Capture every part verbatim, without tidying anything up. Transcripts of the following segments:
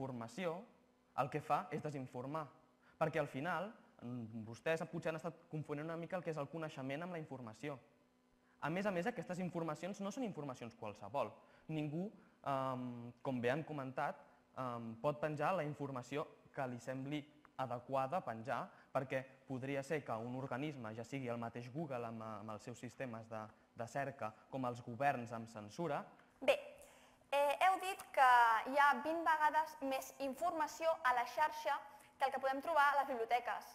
Informació el que fa és desinformar, perquè al final vostès potser han estat confonent una mica el que és el coneixement amb la informació. A més a més, aquestes informacions no són informacions qualsevol. Ningú, com bé han comentat, pot penjar la informació que li sembli adequada penjar, perquè podria ser que un organisme, ja sigui el mateix Google amb els seus sistemes de cerca, com els governs amb censura... Bé, heu dit que hi ha vint vegades més informació a la xarxa que el que podem trobar a les biblioteques.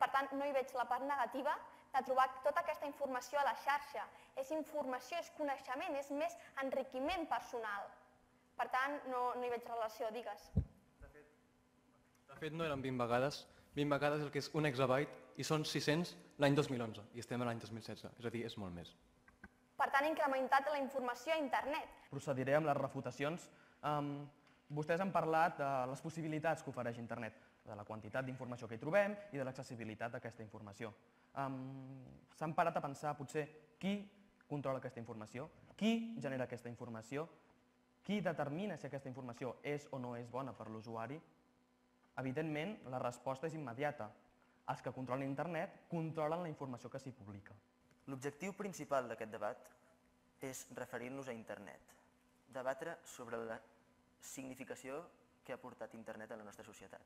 Per tant, no hi veig la part negativa de trobar tota aquesta informació a la xarxa. És informació, és coneixement, és més enriquiment personal. Per tant, no hi veig relació, digues. De fet, no eren vint vegades. vint vegades el que és un exabyte i són sis-cents l'any dos mil onze i estem a l'any dos mil setze, és a dir, és molt més. Per tant, incrementat la informació a internet. Procediré amb les refutacions. Vostès han parlat de les possibilitats que ofereix internet, de la quantitat d'informació que hi trobem i de l'accessibilitat d'aquesta informació. S'han parat a pensar, potser, qui controla aquesta informació, qui genera aquesta informació, qui determina si aquesta informació és o no és bona per l'usuari. Evidentment, la resposta és immediata. Els que controlen internet controlen la informació que s'hi publica. L'objectiu principal d'aquest debat és referir-nos a internet, debatre sobre la significació que ha portat internet a la nostra societat.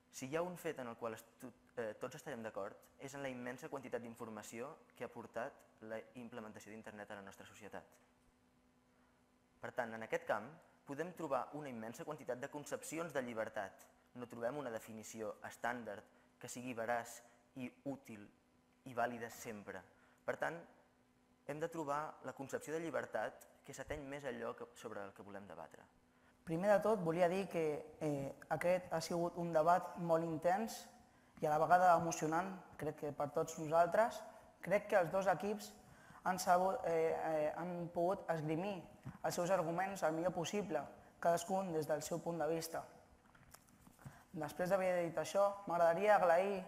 Si hi ha un fet en el qual tots estarem d'acord, és en la immensa quantitat d'informació que ha portat la implementació d'internet a la nostra societat. Per tant, en aquest camp podem trobar una immensa quantitat de concepcions de llibertat. No trobem una definició estàndard que sigui veraç i útil i vàlida sempre. Per tant, hem de trobar la concepció de llibertat que s'ateny més a allò sobre el que volem debatre. Primer de tot, volia dir que aquest ha sigut un debat molt intens i a la vegada emocionant, crec que per tots nosaltres. Crec que els dos equips han pogut esgrimir els seus arguments el millor possible, cadascun des del seu punt de vista. Després d'haver dit això, m'agradaria agrair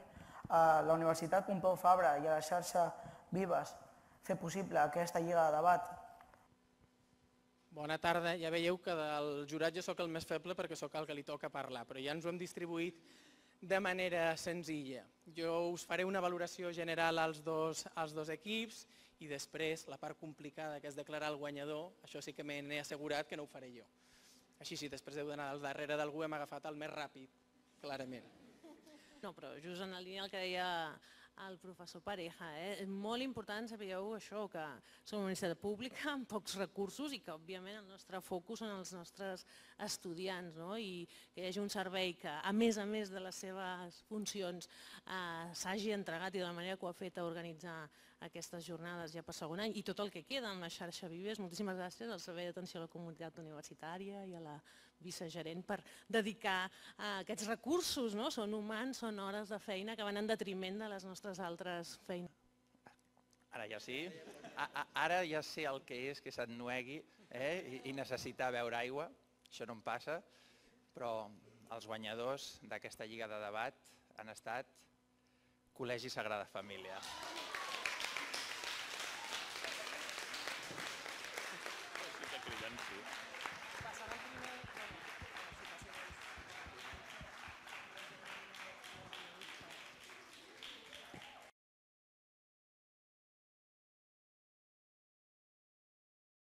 a la Universitat Pompeu Fabra i a la xarxa Vives fer possible aquesta lliga de debat. Bona tarda. Ja veieu que del jurat jo sóc el més feble perquè sóc el que li toca parlar, però ja ens ho hem distribuït de manera senzilla. Jo us faré una valoració general als dos equips i després la part complicada, que és declarar el guanyador, això sí que m'he assegurat que no ho faré jo. Així sí, després d'heu d'anar al darrere d'algú hem agafat el més ràpid, clarament. No, però just en la línia del que deia el professor Pareja, és molt important, sabíeu això, que som una universitat pública amb pocs recursos i que, òbviament, el nostre focus són els nostres estudiants i que hi hagi un servei que, a més a més de les seves funcions, s'hagi entregat i de la manera que ho ha fet a organitzar aquestes jornades ja per segon any i tot el que queda en la xarxa Vives. Moltíssimes gràcies al Servei d'Atenció a la Comunitat Universitària i a la vicegerent per dedicar aquests recursos, són humans, són hores de feina que van en detriment de les nostres altres feines. Ara ja sí, ara ja sé el que és que s'ennuegui i necessitar beure aigua, això no em passa, però els guanyadors d'aquesta lliga de debat han estat Col·legi Sagrada Família.